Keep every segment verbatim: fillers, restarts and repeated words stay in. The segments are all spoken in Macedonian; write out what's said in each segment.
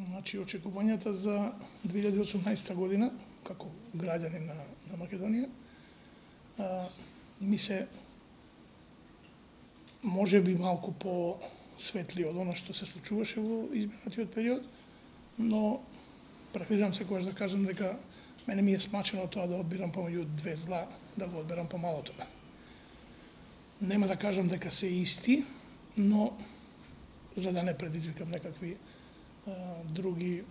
Значи, очекувањата за две илјади и осумнаесета година, како граѓани на, на Македонија, а, ми се може би малку по-светли од оно што се случуваше во изминатиот период, но преферирам секогаш да кажам дека мене ми е смачено тоа да одбирам помеѓу две зла, да го одберам помалото. Нема да кажам дека се исти, но за да не предизвикам некакви а, други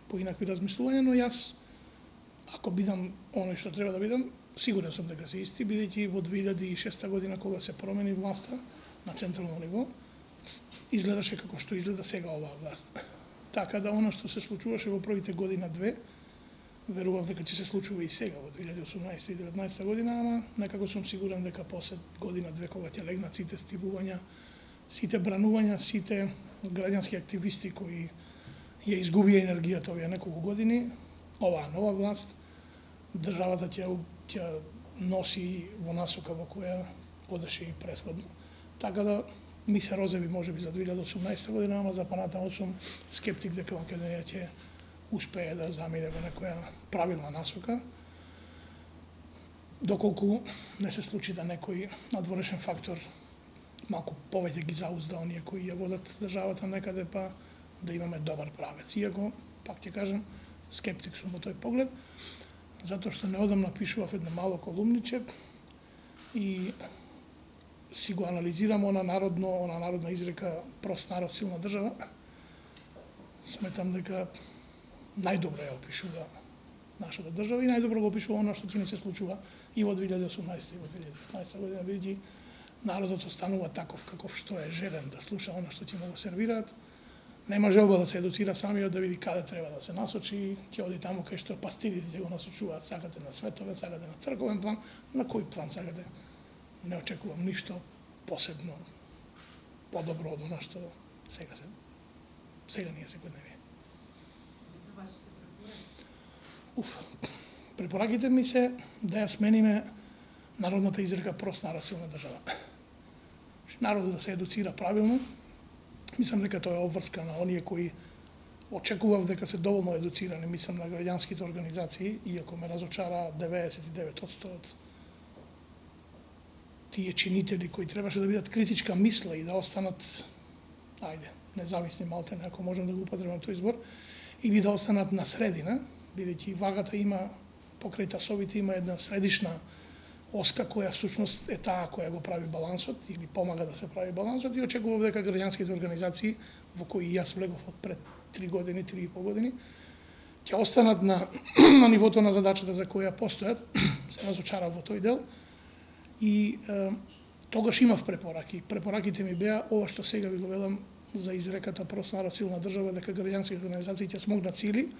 поинакви размислувања, но јас, ако бидам оној што треба да бидам, сигурен сум дека се исти, бидејќи во две илјади и шеста година кога се промени власта на централно ниво, изгледаше како што изгледа сега оваа власт. Така да оно што се случуваше во првите година две, верувам дека ќе се случува и сега во две илјади и осумнаесета и деветнаесета година, ама некако сум сигурен дека после година две кога ќе легнат сите стивувања, сите бранувања, сите граѓански активисти кои ја изгубија енергијата овие неколку години, оваа нова власт, државата ќе ќе носи во насока во која одеше и претходно. Така да ми се розеви можеби за две илјади и осумнаесета година, ама за понатаму сум скептик дека Македонија ќе успее да замине во некоја правилна насока, доколку не се случи да некој надворешен фактор малку повеќе ги заузда оние кои ја водат државата некаде, па да имаме добар правец. Иако, пак ќе кажам, скептик сум во тој поглед, затоа што неодамна пишував едно мало колумниче и си го анализирам она народно, она народна изрека прост народ, силна држава. Сметам дека најдобро ја опишува нашата држава и најдобро го опишува она што ќе ни се случува и во две илјади и осумнаесета и во две илјади и деветнаесета година, бидејќи народот останува таков каков што е желен да слуша она што ќе му го сервираат. Нема желба да се едуцира самиот, да види каде треба да се насочи, ќе оди таму кај што пастирите ќе го насочуваат, сакате на световен, сакате на црковен план, на кој план сакате. Не очекувам ништо посебно подобро од она што сега се сега ние секојдневие. За вашите препораки? Уф, препораките ми се да ја смениме народната изрека прост народ, силна држава. Народот да се едуцира правилно. Мислам дека тоа е обврска на оние кои очекував дека се доволно едуцирани, мислам на граѓанските организации, иако ме разочара деветдесет и девет одсто од тие чинители кои требаше да бидат критичка мисла и да останат, ајде, независни малтене, ако можам да го употребам тој избор, или да останат на средина, бидејќи вагата има, покрај тасовите има една средишна оска која всушност е таа која го прави балансот или помага да се прави балансот и очекував дека граѓанските организации во кои јас влегов од пред три години, три и пол години, ќе останат на, на нивото на задачата за која постојат, се разочарав во тој дел и е, тогаш имав препораки. Препораките ми беа ова што сега ви го велам за изреката прост народ, силна држава, дека граѓанските организации ќе смогнат сили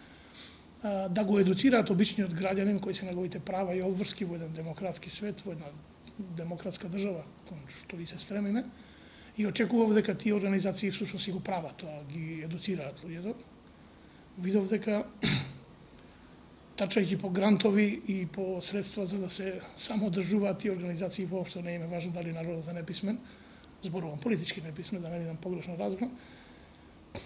да го едуцираат обичниот граѓанин кои се неговите права и обврски во еден демократски свет, во една демократска држава, кон што и се стремиме. И очекував дека тие организации всушност си го прават тоа, ги едуцираат луѓето. Видов дека трчајќи по грантови и по средства за да се самоодржуваат тие организации, воопшто не им е важно дали народот е неписмен, зборувам политички неписмен, да не бидам погрешно разбран.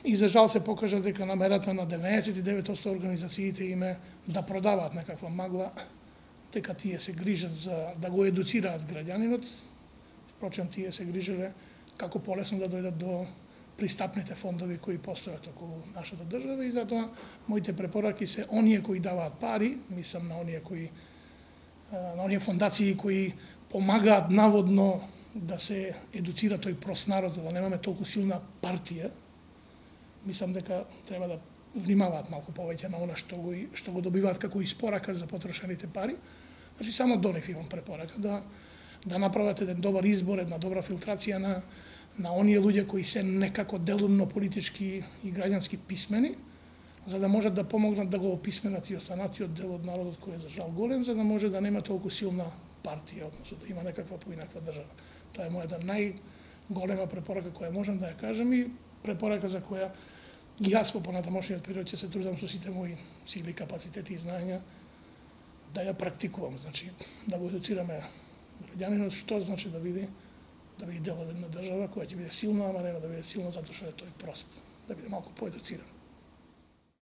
И за жал се покажа дека намерата на деветдесет и девет одсто организациите име да продаваат некаква магла, дека тие се грижат за да го едуцираат граѓанинот. Впрочем, тие се грижеле како полесно да дојдат до пристапните фондови кои постојат околу нашата држава и затоа моите препораки се оние кои даваат пари, мислам на оние кои на оние фондации кои помагаат наводно да се едуцира тој прост народ за да немаме толку силна партија. Мислам дека треба да внимаваат малку повеќе на она што го што го добиваат како испорака за потрошените пари. Значи само до нив имам препорака да да направат еден добар избор, една добра филтрација на на оние луѓе кои се некако делумно политички и граѓански писмени, за да можат да помогнат да го описменат и останатиот дел од народот кој е за жал голем, за да може да нема толку силна партија, односно да има некаква поинаква држава. Тоа е мојата најголема препорака која можам да ја кажам и препорака за која и јас во понатамошниот период ќе се трудам со сите мои сили, капацитети и знаења да ја практикувам, значи да го едуцираме граѓанинот што значи да биде да биде дел од една држава која ќе биде силна, ама нема да биде силна затоа што е тој прост, да биде малку поедуциран.